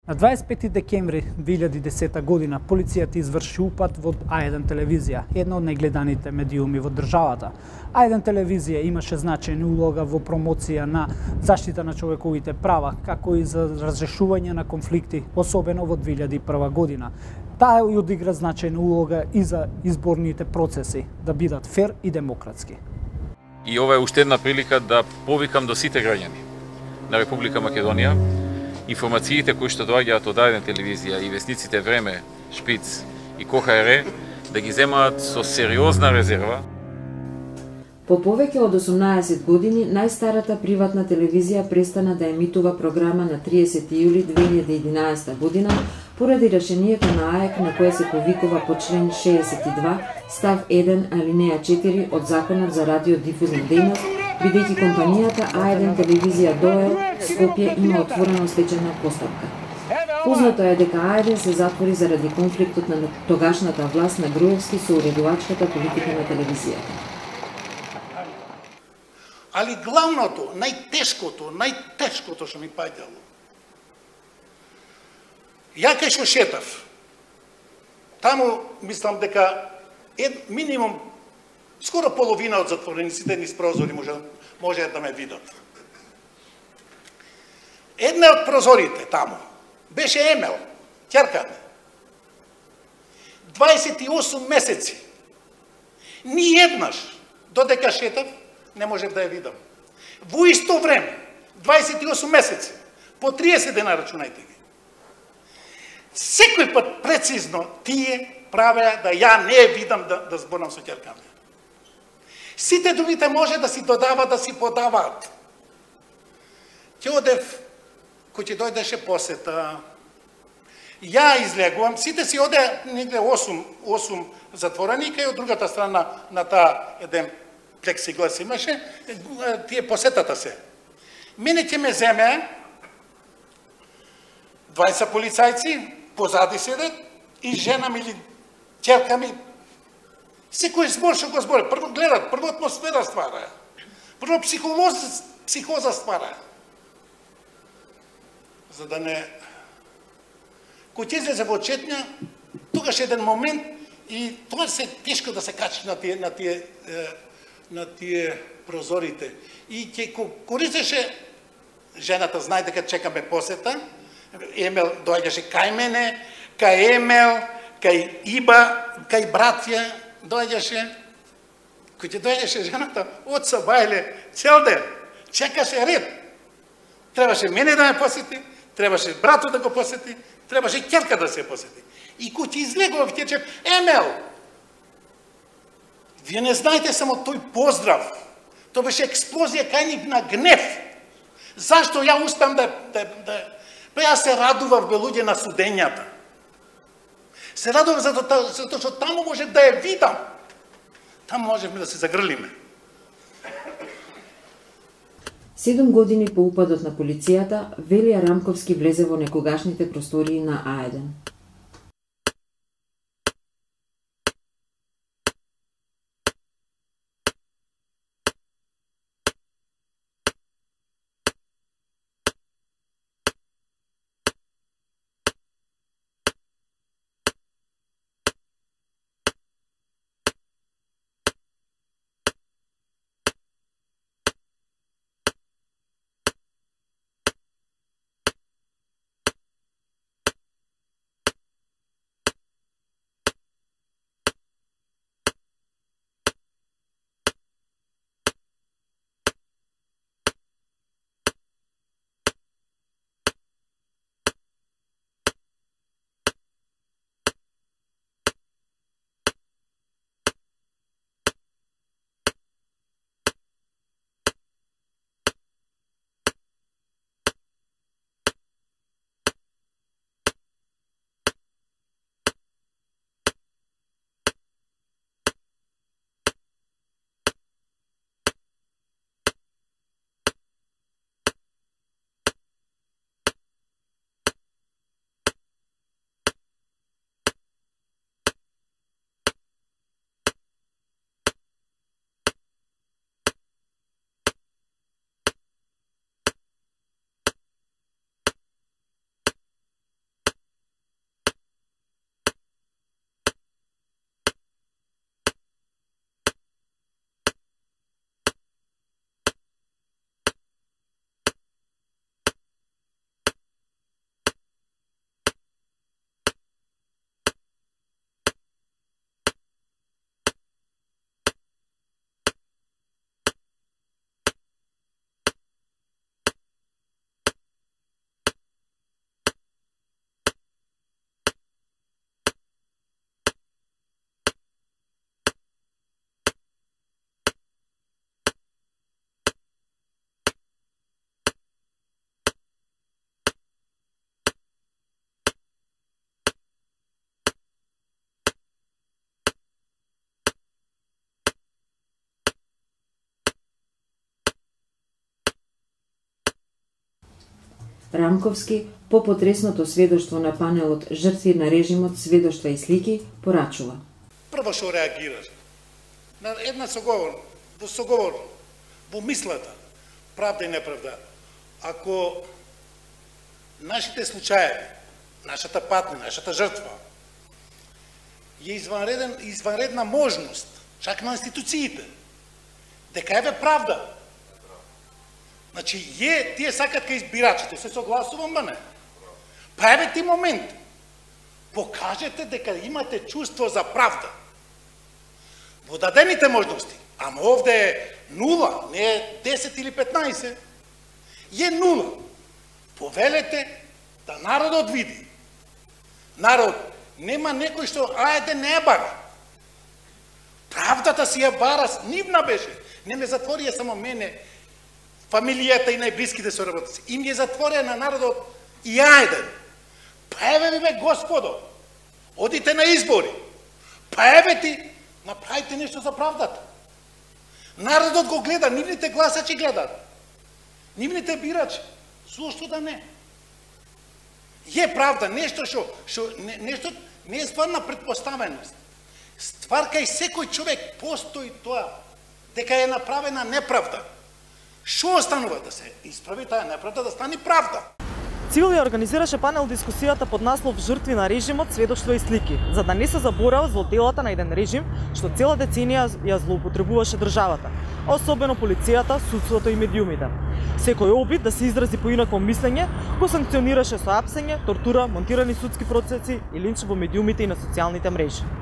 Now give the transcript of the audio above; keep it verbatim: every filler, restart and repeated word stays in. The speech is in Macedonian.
На дваесет пети декември две илјади и десета година полицијата изврши упад во А еден телевизија, една од најгледаните медиуми во државата. А еден телевизија имаше значајна улога во промоција на заштита на човековите права, како и за разрешување на конфликти, особено во две илјади и прва година. Таа и одигра значајна улога и за изборните процеси, да бидат фер и демократски. И ова е уште една прилика да повикам до сите граѓани на Република Македонија информациите кои што доаѓаат од А еден телевизија и вестниците Време, Шпиц и КОХР да ги земаат со сериозна резерва. По повеќе од осумнаесет години, најстарата приватна телевизија престана да емитува програма на триесети јули две илјади и единаесета година поради решението на АЕК на кое се повикува по член шеесет и два, став еден, алинеја четири од Законот за радиодифузна дејност, бидејќи компанијата А еден телевизија ДОЕЛ Скопје има отворена стечајна постапка. Познато е дека А еден се затвори заради конфликтот на тогашната власт на Груевски со уредувачката политика на телевизијата. Али главното, најтешкото, најтешкото што ми паѓало. Ја кај што шетав, таму мислам дека ед, минимум скоро половина од затворениците низ прозори може, може да ме видат. Една од прозорите таму беше Емел, ќерка ми. дваесет и осум месеци. Ни еднаш, додека шетав, не можев да ја видам. Во исто време, дваесет и осум месеци, по триесет дена рачунајте ги. Секој пат прецизно тие правеа да ја не ја видам да, да зборам со ќерка ми. Сите другите може да си додават, да си подаваат. Ќе одев, кој ќе дојдеше посета, ја излегувам, сите си оде негде осум, осум затвореника и од другата страна на таа еден плексиглас имаше, тие посетата се. Мене ќе ме земе дваесет полицајци, позади седат, и жена ми или ќерка ми, секој збор што го збори, прво гледат, прво атмосфера ствара, прво психолоз, психоза ствара. За да не... Кој ќе излезе во четња, тогаш еден момент, и тоа се тешко да се качи на тие, на тие, на тие прозорите. И ќе користеше, жената знае дека чекаме посета, Емел доаѓаше кај мене, кај Емел, кај Иба, кај братја, доаѓаше, кој ќе доаѓаше жената, отца бајле, цел ден, чекаше ред. Требаше мене да ме посети, требаше брато да го посети, требаше ќерка да се посети. И кој ќе излегува, ќе рече, Емел, вие не знаете само тој поздрав, тоа беше експлозија кај нив на гнев. Зашто ја успеам да, да, да Па ја се радував бе луѓе на судењата. Се радував затоа зато што таму можев да ја видам. Таму можевме да се загрлиме. Седум години по упадот на полицијата, Велија Рамковски влезе во некогашните простории на А еден. Рамковски, по потресното сведоштво на панелот Жртви на режимот, сведоштва и слики, порачува. Прво што реагираш на една соговор, во соговор, во мислата, правда и неправда. Ако нашите случаеви, нашата патня, нашата жртва, е извънреден, извънредна можност, чак на институциите, дека еве правда. Значи, е, тие сакат кај избирачите, се согласувам, ба не? Па еве ти момент, покажете дека имате чувство за правда. Во дадените можности, ама овде е нула, не е десет или петнаесет, е нула. Повелете да народот види. Народ нема некој што ајде не бара. Правдата си ја бара, нивна беше. Не ме затворија само мене, фамилијата и најблиските соработници. Им ја затворија на народот и ајде. Па еве ви бе Господо, одите на избори. Па еве ти, направите нешто за правдата. Народот го гледа, нивните гласачи гледат. Нивните бирачи. Зошто да не? Е правда, нешто што, што не, нешто не е ствар на предпоставеност. Ствар кај секој човек постои тоа, дека е направена неправда. Што останува да се исправи таа неправда, да стане правда? Цивил ја организираше панел дискусијата под наслов Жртви на режимот, сведоштва и слики, за да не се заборава злоделата на еден режим што цела деценија ја злоупотребуваше државата, особено полицијата, судството и медиумите. Секој обид да се изрази поинакво мислење го санкционираше со апсење, тортура, монтирани судски процеси и линч во медиумите и на социјалните мрежи.